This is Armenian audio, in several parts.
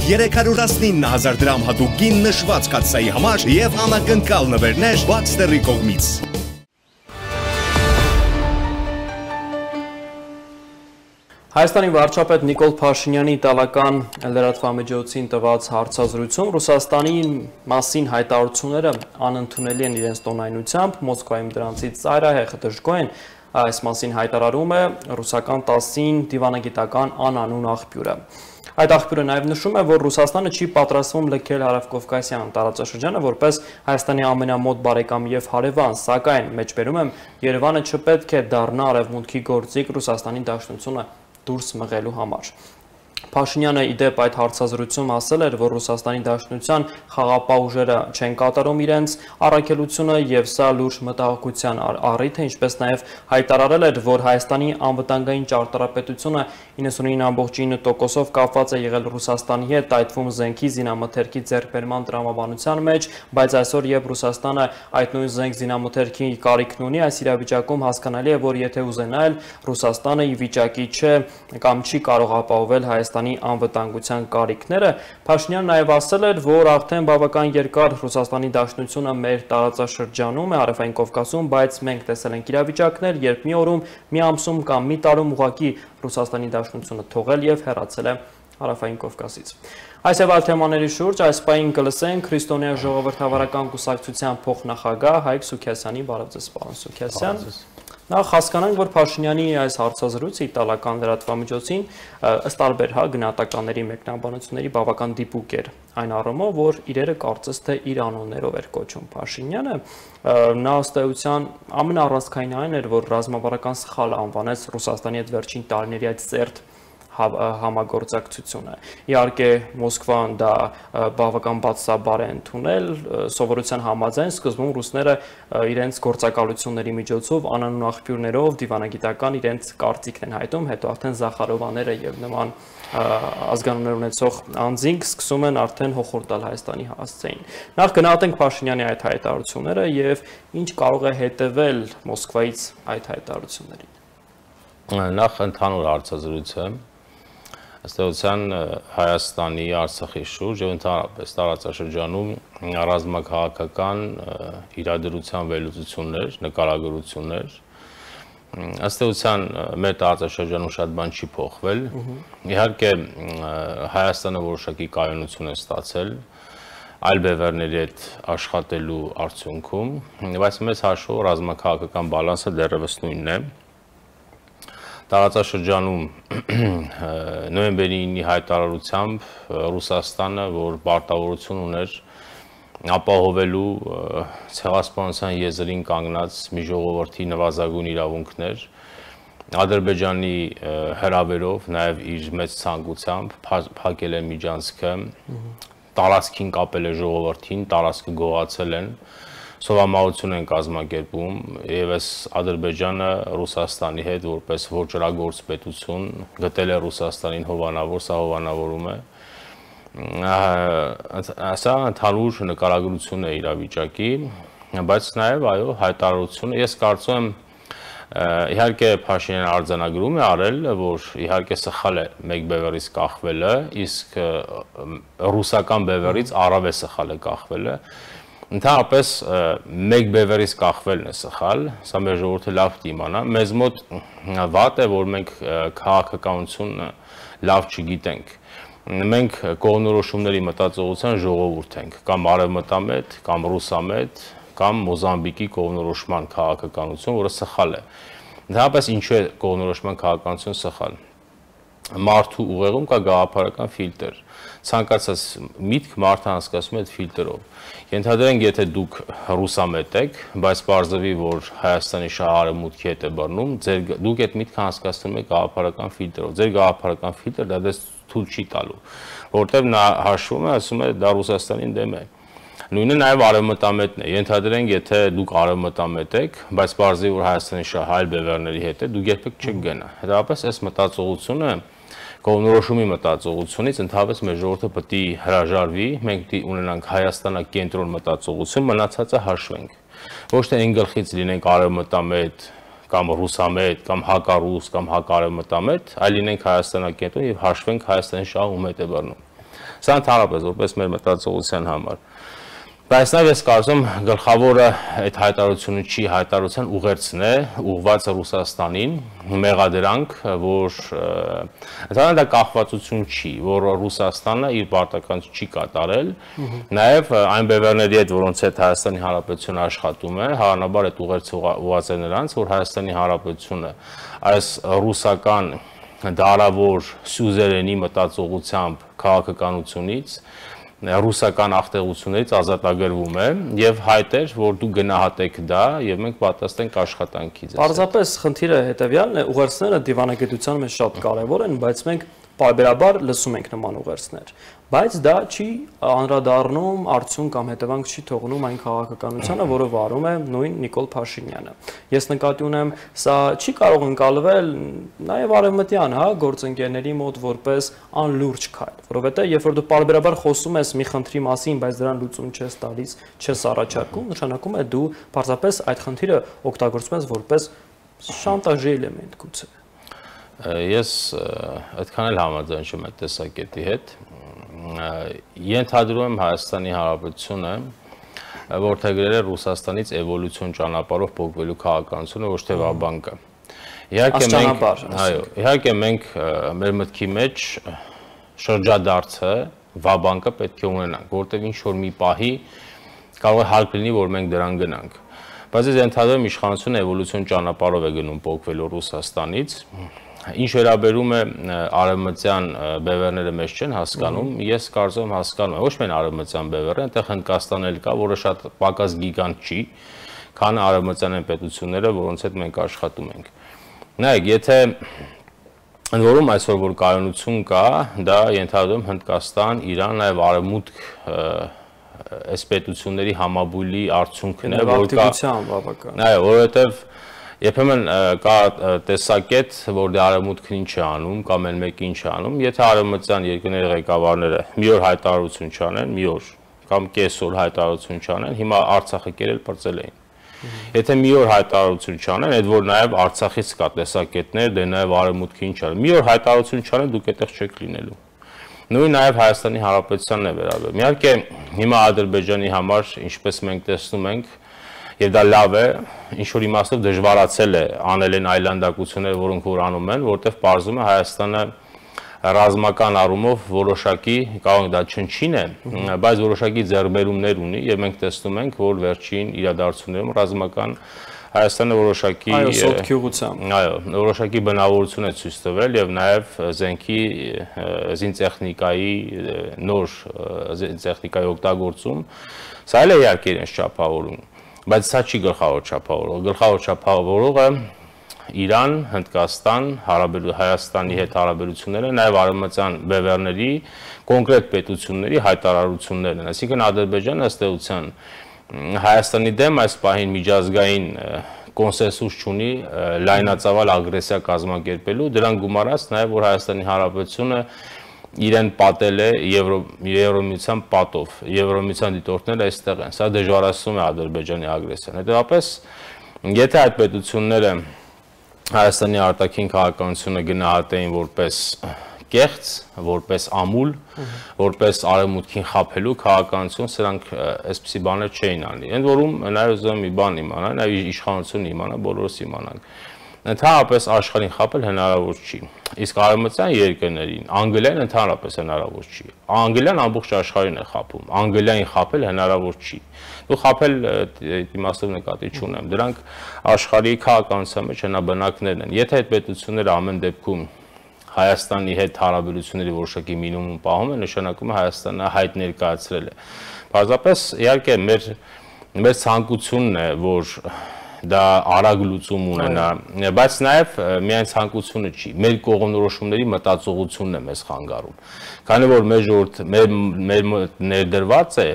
319,000 դրամ հատուկ գին նշված կաթսայի համար և անակնկալ նվերներ Baxter-ի կողմից։ Հայաստանի վարչապետ Նիկոլ Փաշինյանի իտալական լրատվամիջոցին տված հարցազրույցում Ռուսաստանի մասին հայտարարությունները անընդունելի են իրենց տոնայնությամբ, Մոսկվայում դրանցից ծայրահեղ դժգոհ են, այս մասին հայտարարում է ռուսական TASS-ին դիվանագիտական անանուն աղբյուրը։ Այդ աղբյուրը նաև նշում է, որ Ռուսաստանը չի պատրաստվում լքել Հարավկովկասյան տարածաշրջանը որպես Հայաստանի ամենամոտ բարեկամ և հարևան, սակայն մեջբերում եմ Երևանը չպետք է դառնա արևմուտքի գործիք Ռուսաստանի Դաշնությունը դուրս մղելու համար։ Փաշինյանը իդեպ այդ հարցազրույցում ասել էր, որ Ռուսաստանի Դաշնության խաղապահ ուժերը չեն կատարում իրենց առաքելությունը և սա լուրջ մտահոգության առիթ է, ինչպես նաև հայտարարել էր, որ Հայաստանի անվտանգային ճարտարապետությունը 99.9%-ով կապված է եղել Ռուսաստանի հետ, այդ թվում զենքի զինամթերքի ձեռքբերման տրամաբանության մեջ, բայց այսօր երբ Ռուսաստանը այդ նույն զենք զինամթերքի կարիքն ունի, այս իրավիճակում հասկանալի է, որ եթե ուզենա էլ Ռուսաստանը ի վիճակի չէ կամ չի կարող ապահովել Հայաստանի անվտանգության կարիքները։ Փաշինյանն նաև ասել էր, որ արդեն բավական երկար Ռուսաստանի Դաշնությունը մեր տարածաշրջանում է Հարավային Կովկասում, բայց մենք տեսել ենք իրավիճակներ, երբ մի օրում, մի ամսում կամ մի տարում ուղղակի Ռուսաստանի Դաշնությունը թողել և հեռացել է Հարավային Կովկասից։ Այս եւ այլ թեմաների շուրջ այս պահին կլսենք Քրիստոնյա ժողովրդավարական կուսակցության փոխնախագահ Հայկ Սուքիասյանի։ Բարև ձեզ, պարոն Սուքիասյան։ Նախ հասկանանք, որ Փաշինյանի այս հարցազրույցը իտալական լրատվամիջոցին ըստ տարբեր գնահատականների մեկնաբանությունների բավական դիպուկ էր, այն առումով, որ իրերը կարծես թե իր անուններով էր կոչում Փաշինյանը, նա ըստ էության ամենառանցքային այն էր, որ ռազմավարական սխալ անվանեց Ռուսաստանի հետ վերջին տարիների այդ սերտ համագործակցությունը։ Իհարկե Մոսկվան դա բավական բացասաբար է ընդունել, սովորության համաձայն սկզբում ռուսները իրենց գործակալությունների միջոցով անանուն աղբյուրներով դիվանագիտական իրենց կարծիքն են հայտում, հետո արդեն Զախարովաները եւ նման ազգանուններ ունեցող անձինք սկսում են արդեն հոխորտ տալ Հայաստանի հասցեին։ Նախ գնահատենք Փաշինյանի այդ հայտարարությունները եւ ինչ կարող է հետեւել Մոսկվայից այդ հայտարարություններին։ Նախ ընդհանուր հարցազրույցը ըստ էության Հայաստանի, Արցախի շուրջ եւ ընդհանրապես տարածաշրջանում ռազմաքաղաքական իրադրության վերլուծություններ, նկարագրություններ, ըստ էության մեր տարածաշրջանում շատ բան չի փոխվել։ Իհարկե Հայաստանը որոշակի կայունություն է ստացել այլ բևեռների հետ աշխատելու արդյունքում, բայց մեծ հաշվով ռազմաքաղաքական բալանսը դեռևս նույնն է։ Տարածաշրջանում նոյեմբերի 9-ի հայտարարությամբ Ռուսաստանը, որ պարտավորություն ուներ ապահովելու ցեղասպանության եզրին կանգնած մի ժողովրդի նվազագույն իրավունքներ, Ադրբեջանի հրավերով նաև իր մեծ ցանկությամբ փակել է միջանցքը, տարածքին կապել է ժողովրդին, տարածքը գողացել են, սովամահություն են կազմակերպում եւ այս Ադրբեջանը Ռուսաստանի հետ որպես ոչրագործ պետություն գտել է Ռուսաստանին հովանավոր, սա հովանավորում է։ Սա ընդհանուր նկարագրություն է իրավիճակի, բայց նաեւ այո, հայտարարությունը ես կարծում եմ իհարկե Փաշինյանը արձանագրում է արել, որ իհարկե սխալ է մեկ բևեռից կախվելը, իսկ ռուսական բևեռից առավել սխալ է կախվելը։ Ընդհանրապես մեկ բևեռից կախվելն է սխալ, սա մեր ժողովուրդը լավ դիմանա, մեզ մոտ վատ է, որ մենք քաղաքականությունը լավ չգիտենք։ Մենք կողմնորոշումների մտածողության ժողովուրդ ենք, կամ արևմտամետ, կամ ռուսամետ, կամ Մոզամբիկի կողմնորոշման քաղաքականություն, որը սխալ է։ Ընդհանրապես ինչու է կողմնորոշման քաղաքականություն սխալ։ Մարդու ուղեղում կա գաղափարական ֆիլտր։ Ցանկացած միտք մարդը անցկացնում է այդ ֆիլտրով։ Ենթադրենք, եթե դուք ռուսամետ եք, բայց պարզվի, որ Հայաստանի շահարարմուտքի հետ է բռնում, դուք այդ միտքը անցկացնում եք գաղափարական ֆիլտրով։ Ձեր գաղափարական ֆիլտրը դա դες թույլ չի տալու, որտեղ նա հաշվում է, ասում է դա Ռուսաստանին դեմ է։ Նույնը նաև արևմտամետն է։ Ենթադրենք, եթե դուք արևմտամետ եք, բայց պարզվի, որ Հայաստանի շահը այլ բևեռների հետ է, դուք երբեք չեք գնա։ Հետևաբար այս մտածողությունը կողմնորոշումի մտածողությունից ընդհանրապես մեր ժողովուրդը պետք է հրաժարվի, մենք պետք է ունենանք Հայաստանակենտրոն մտածողություն, մնացածը հաշվենք։ Ոչ թե այն գլխից լինենք արևմտամետ կամ ռուսամետ կամ հակառուս կամ հակարևմտամետ, այլ լինենք Հայաստանակենտրոն եւ հաշվենք Հայաստանի շահը ում հետ է բռնում։ Սա ընդհանրապես որպես մեր մտածողության համար։ Բայց նաև ես կարծում գլխավորը այդ հայտարարությունը չի, հայտարարության ուղերձն է, ուղղված Ռուսաստանին, մեղադրանք, որ ընդհանրապես դա կախվածություն չի, որ Ռուսաստանը իր պարտականությունը չի կատարել, նաև այն բևեռների հետ, որոնց հետ Հայաստանի Հանրապետությունը աշխատում է, հավանաբար այդ ուղերձը ուղղված է նրանց, որ Հայաստանի Հանրապետությունը այս ռուսական դարավոր սյուզերենի մտածողությամբ քաղաքականությունից ռուսական աղտեղություններից ազատագրվում է եւ հայտ էր, որ դու գնահատեք դա եւ մենք պատրաստ ենք աշխատանքի ձեզ։ Պարզապես խնդիրը հետեւյալն է, ուղերձները դիվանագիտության մեջ շատ կարեւոր են, բայց մենք պարբերաբար լսում ենք նման ուղերձներ, բայց դա չի անդրադառնում արդյունք կամ հետևանք չի թողնում այն քաղաքականությանը, որը վարում է նույն Նիկոլ Փաշինյանը։ Ես նկատի ունեմ, սա չի կարող ընկալվել նաև արևմտյան, գործընկերների մոտ որպես անլուրջ քայլ, որովհետեւ երբ որ դու պարբերաբար խոսում ես մի խնդրի մասին, բայց դրան լուծում չես տալիս, չես առաջարկում, նշանակում է դու պարզապես այդ խնդիրը օգտագործում ես որպես շանտաժի էլեմենտ գուցե։ Ես այդքան էլ համաձայն չեմ այդ տեսակետի հետ։ Ենթադրում եմ Հայաստանի Հանրապետությունը որդեգրել է Ռուսաստանից էվոլյուցիոն ճանապարհով փոխվելու քաղաքականությունը, ոչ թե վաբանկը։ Իհարկե մենք մեր մտքի մեջ շրջադարձը վաբանկը պետք է ունենանք, որտեղ ինչ որ մի պահի կարող է հարկ լինի, որ մենք դրան գնանք։ Բայց ես ենթադրում եմ իշխանությունը էվոլյուցիոն ճանապարհով է գնում փոխվելու Ռուսաստանից։ Ինչ վերաբերում է արևմտյան բևեռները մեզ չեն հասկանում, ես կարծում եմ հասկանում եմ, ոչ միայն արևմտյան բևեռը, այնտեղ Հնդկաստանն էլ կա, որը շատ պակաս գիգանտ չի, քան արևմտյան այն պետությունները, որոնց հետ մենք աշխատում ենք։ Նայեք, եթե ընդ որում այսօր որ կայունություն կա, դա ենթադրում Հնդկաստան, Իրան, նաև արևմուտք այս պետությունների համաբույլի արդյունքն է, որ կա, այո, որովհետև երբեմն կա տեսակետ, որ դե արևմուտքն ինչ է անում, կամ էլ մեկը ինչ է անում, եթե արևմտյան երկրների ղեկավարները մի օր հայտարարություն չանեն, մի օր կամ կեսօր հայտարարություն չանեն, հիմա Արցախը կերել պրծել էին։ Եթե մի օր հայտարարություն չանեն, այդ որ նաև Արցախից կա տեսակետներ, դե նաև արևմուտքը ինչ անում։ Մի օր հայտարարություն չանեն, դուք այդտեղ չեք լինելու։ Նույն նաև Հայաստանի Հանրապետությանն է վերաբերում։ Իհարկե հիմա Ադրբեջանի համար, ինչպես մենք տեսնում ենք, եւ դա լավ է, ինչ որ իմաստով դժվարացել է անել են այլանդակությունները, որոնք որ անում են, որտեղ պարզում է Հայաստանը ռազմական առումով որոշակի, կարող դա չնչին է, բայց որոշակի ձեռքբերումներ ունի եւ մենք տեսնում ենք, որ վերջին իրադարձություններում ռազմական Հայաստանը որոշակի որոշակի բնավորություն է ցույց տվել եւ նաեւ զենքի զինտեխնիկայի նոր զինտեխնիկայի օգտագործում, սա էլ է իհարկե իրենց չափավորում, բայց սա չի գլխավոր չափավորողը, գլխավոր չափավորողը Իրան, Հնդկաստան, Հայաստանի հետ հարաբերությունները, նաև արևմտյան բևեռների կոնկրետ պետությունների հայտարարություններն են, այսինքն Ադրբեջանը ըստ էության Հայաստանի դեմ այս պահին միջազգային կոնսենսուս չունի լայնածավալ ագրեսիա կազմակերպելու, դրան գումարած նաև որ Հայաստանի Հանրապետությունը իրեն պատել է Եվրոմիության պատով, Եվրոմիության դիտորդները այստեղ են, սա դժվարացնում է Ադրբեջանի ագրեսիան, հետևաբար եթե այդ պետությունները Հայաստանի արտաքին քաղաքականությունը գնահատեին որպես կեղծ, որպես ամուլ, որպես արևմուտքին խաբելու քաղաքականություն, սրանք այսպիսի բաներ չէին անի։ Ընդ որում նաև ուզում եմ մի բան իմանալ, նաև իշխանությունը իմանա, բոլորս իմանանք։ Ընդհանրապես աշխարհին խաբել հնարավոր չի։ Իսկ արևմտյան երկրներին անգլիան ընդհանրապես հնարավոր չի։ Անգլիան ամբողջ աշխարհին է խաբում։ Անգլիային խաբել հնարավոր չի։ Դու խաբել իմաստով նկատի չունեմ։ Դրանք աշխարհի քաղաքականության մեջ հնաբնակներն են։ Եթե այդ պետությունները ամեն դեպքում Հայաստանի հետ հարաբերությունների որոշակի մինիմում պահում է, նշանակում է Հայաստանը հայտ ներկայացրել է։ Պարզապես իհարկե մեր ցանկությունն է, որ դա արագ լուծում ունենա, բայց նաև միայն ցանկությունը չի, մեր կողմնորոշումների մտածողությունն է մեզ խանգարում։ Քանի որ մեր ժողովուրդ մեր ներդրված է,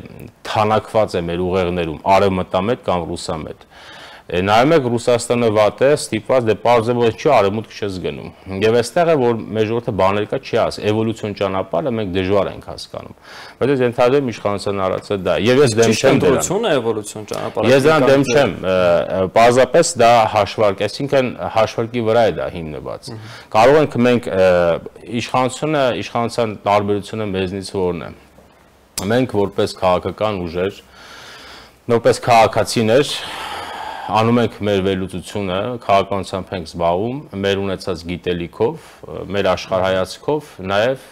թանակված է մեր ուղեղներում արևմտամետ կամ ռուսամետ։ Նայում եք Ռուսաստանը վատ է, ստիպված դե պարզապես չի արևմուտք չես գնում։ Եվ այստեղ է որ մեր ժողովուրդը բաներ կա չի ասի, էվոլյուցիոն ճանապարհը մենք դժվար ենք հասկանում։ Բայց ընդհանրապես իշխանության արածը դա։ Եվ ես դեմ չեմ դրան։ Էվոլյուցիոն ճանապարհը։ Ես դրան դեմ չեմ, պարզապես դա հաշվարկ, այսինքն հաշվարկի վրա է դա հիմնված։ Կարող ենք մենք իշխանության տարբերությունը մեզնից որն է։ Մենք որպես քաղաքական ուժեր, որպես քաղաքացիներ անում ենք մեր վերլուծությունը, քաղաքականությամբ ենք զբաղվում, մեր ունեցած գիտելիքով, մեր աշխարհայացքով, նաև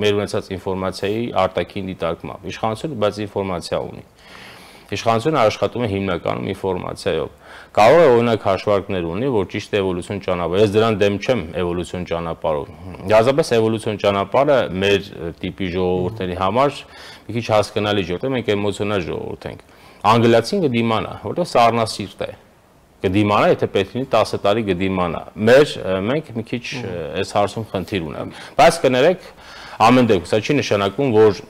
մեր ունեցած ինֆորմացիայի արտաքին դիտարկմամբ։ Իշխանությունը բայց ինֆորմացիա ունի։ Իշխանությունը աշխատում է հիմնականում ինֆորմացիայով։ Կարող է օրինակ հաշվարկներ ունի, որ ճիշտ է էվոլյուցիոն ճանապարհ։ Ես դրան դեմ չեմ էվոլյուցիոն ճանապարհով։ Դարձապես էվոլյուցիոն ճանապարհը մեր տիպի ժողովուրդների համար մի քիչ հասկանալի է, որտեղ մենք էմոցիոնալ ժողովուրդ ենք։ Անգլիացին կդիմանա, որտեղ սառնասիրտ է։ Կդիմանա, եթե պետք լինի 10 տարի կդիմանա։ Մենք մի քիչ այս հարցում խնդիր ունենք։ Բայց կներեք, ամեն դեպքում սա չի նշանակում, որ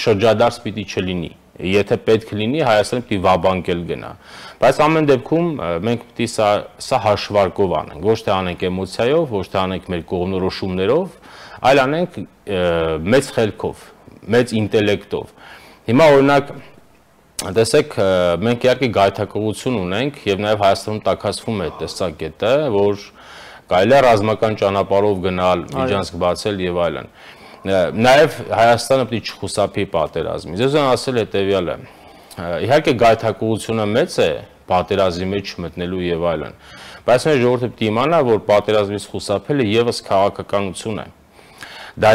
շրջադարձ պիտի չլինի։ Եթե պետք լինի, Հայաստանը պիտի վաբանկել գնա։ Բայց ամեն դեպքում մենք պիտի սա հաշվարկով անենք, ոչ թե անենք էմոցիայով, ոչ թե անենք մեր կողմնորոշումներով, այլ անենք մեծ խելքով, մեծ ինտելեկտով։ Հիմա օրինակ տեսեք, մենք իհարկե գայթակղություն ունենք եւ նաեւ Հայաստանում տաքացվում է տեսակետը, որ կարելի է ռազմական ճանապարհով գնալ, միջանցք բացել եւ այլն։ Նաեւ Հայաստանը պետք է չխուսափի պատերազմից։ Ես ուզում ասել հետեւյալը. իհարկե գայթակղությունը մեծ է պատերազմի մեջ մտնելու եւ այլն, բայց մեր ժողովուրդը պետք է իմանա, որ պատերազմից խուսափելը եւս քաղաքականություն է։ Դա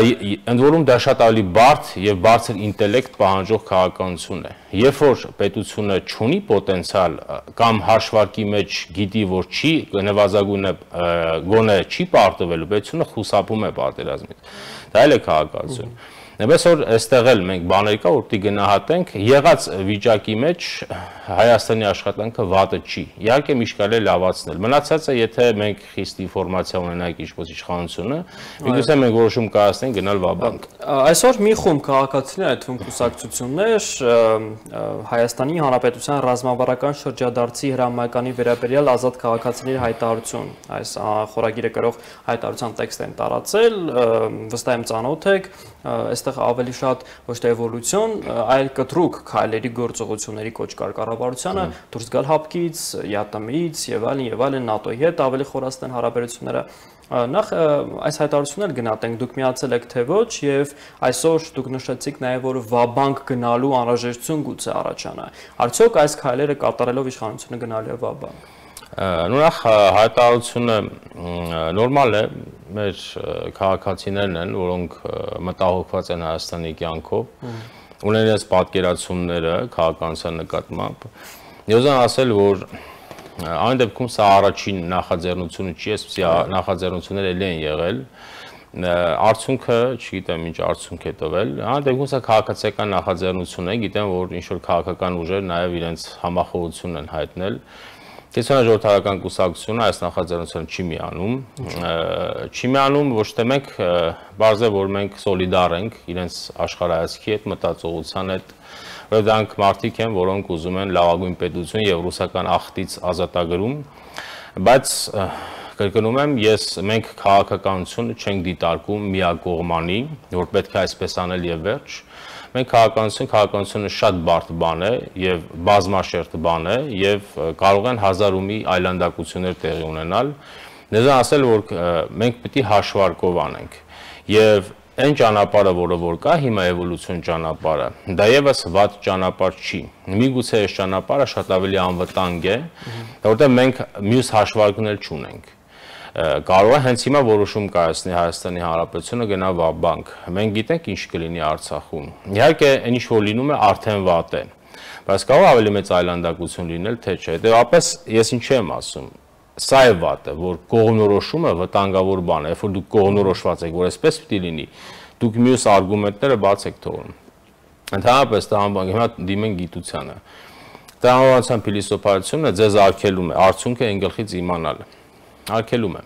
ընդ որում դա շատ ավելի բարդ եւ բարձր ինտելեկտ պահանջող քաղաքականություն է։ Երբ որ պետությունը չունի պոտենցիալ կամ հաշվարկի մեջ գիտի, որ չի նվազագույնը գոնե չի պարտվելու, պետությունը խուսափում է պատերազմից։ Դա էլ է քաղաքականություն։ Այնպես որ այստեղ էլ մենք բաներ կա, որ պիտի գնահատենք, եղած վիճակի մեջ Հայաստանի աշխատանքը վատը չի։ Իհարկե միշտ կարելի է լավացնել։ Մնացածը, եթե մենք խիստ ինֆորմացիա ունենանք ինչպես իշխանությունը, միգուցե մենք որոշում կայացնենք գնալ վաբանկ։ Այսօր մի խումբ քաղաքացիներ, այդ թվում կուսակցություններ, Հայաստանի Հանրապետության ռազմավարական շրջադարձի հրամայականի վերաբերյալ ազատ քաղաքացիների հայտարարություն, այս խորագիրը կրող հայտարարության տեքստ են տարածել, վստահ եմ ծանոթ եք, այստեղ ավելի շատ ոչ թե էվոլյուցիոն, այլ կտրուկ քայլերի գործողությունների կոչ կար կառավարությանը դուրս գալ հապկից, ԵԱՏՄ-ից եւ այլն ՆԱՏՕ-ի հետ ավելի խորացնեն հարաբերությունները։ Նախ այս հայտարարությունն էլ գնահատենք, դուք միացել եք թե ոչ եւ այսօր դուք նշեցիք նաեւ որ վաբանկ գնալու անհրաժեշտություն գուցե առաջանա։ Արդյոք այս քայլերը կատարելով իշխանությունը գնալու է վաբանկ։ Նույնիսկ հայտարարությունը նորմալ է, մեր քաղաքացիներն են, որոնք մտահոգված են Հայաստանի կյանքով, ունեն իրենց պատկերացումները քաղաքականության նկատմամբ։ Ես ուզում ասել, որ այն դեպքում սա առաջին նախաձեռնությունը չի, այսպիսի նախաձեռնություններ ելի են եղել։ Արդյունքը, չգիտեմ ինչ արդյունք է տվել, այն դեպքում սա քաղաքացիական նախաձեռնություն է, գիտեմ, որ ինչ-որ քաղաքական ուժեր նաև իրենց համախոհություն են հայտնել։ Կենտրոնաժողովրդական կուսակցությունը այս նախաձեռնությունը չի միանում, ոչ թե մենք բարձր է, որ մենք սոլիդար ենք իրենց աշխարհայացքի հետ, մտածողության հետ, որ դրանք մարդիկ են, որոնք ուզում են լավագույն պետություն եւ ռուսական աղտից ազատագրում, բայց կրկնում եմ, մենք քաղաքականությունը չենք դիտարկում միակողմանի, որ պետք է այսպես անել եւ վերջ։ Մենք քաղաքականությունը շատ բարդ բան է եւ բազմաշերտ բան է եւ կարող են հազար ու մի այլանդակություններ տեղի ունենալ։ Դեզ ասել, որ մենք պետք է հաշվարկով անենք եւ այն ճանապարհը, որ կա հիմա էվոլյուցիոն ճանապարհը, դա եւս վատ ճանապարհ չի։ Միգուցե այս ճանապարհը շատ ավելի անվտանգ է, որտեղ մենք մյուս հաշվարկներ չունենք։ Կարող է հենց հիմա որոշում կայացնի Հայաստանի Հանրապետությունը գնա վաբանկ։ Մենք գիտենք ինչ կլինի Արցախում։ Իհարկե, այն ինչ որ լինում է արդեն վատ է։ Բայց կարող է ավելի մեծ այլանդակություն լինել, թե չէ։ Հետևաբար ես ինչ եմ ասում։ Սա է վատը, որ կողմնորոշումը վտանգավոր բան է, երբ որ դուք կողմնորոշված եք, որ այսպես պիտի լինի, դուք մյուս արգումենտները բաց եք թողնում։ Ընդհանրապես հիմա դիմեն գիտությանը։ Տրամաբանության փիլիսոփայությունը ձեզ արգելում է, արդյունքը այն գլխից իմանալը։ Արգելում է։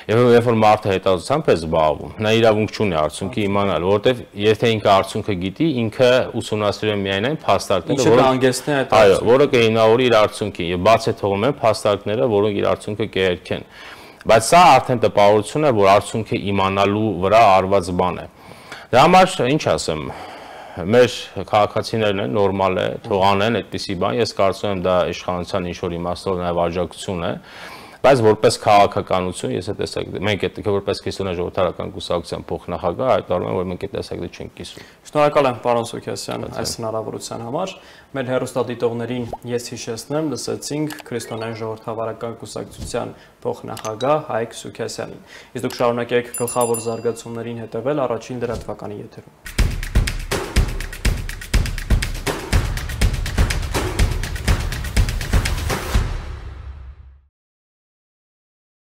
Եվ երբ որ մարդը հետազոտությամբ է զբաղվում, նա իրավունք չունի արդյունքի իմանալ, որովհետև եթե ինքը արդյունքը գիտի, ինքը ուսումնասիրում է միայն այն փաստարկները, որը կհիմնավորի իր արդյունքին, եւ բաց է թողում են փաստարկները, որոնք իր արդյունքը կերքեն։ Բայց սա արդեն տպավորություն է, որ արդյունքը իմանալու վրա արված բան է։ Դրա համար ինչ ասեմ, մեր քաղաքացիներն են, նորմալ է, թող անեն այդպիսի բան, ես կարծում եմ դա իշխանության ինչ-որ իմաստով նաև աջակցություն է, բայց որպես քաղաքականություն, ես տեսակ մենք այդ որպես քրիստոնյա ժողովրդական կուսակցության փոխնախագահ հայտարարում եմ, որ մենք այդ տեսակետը չենք կիսում։ Շնորհակալ եմ, պարոն Սուքասյան, այս հնարավորության համար։ Մեր հեռուստադիտողներին ես հիշեցնեմ, լսեցինք քրիստոնյա ժողովրդավարական կուսակցության փոխնախագահ Հայկ Սուքասյանին։ Իսկ դուք շարունակեք գլխավոր զարգացումներին հետևել առաջին լրատվականի եթերում։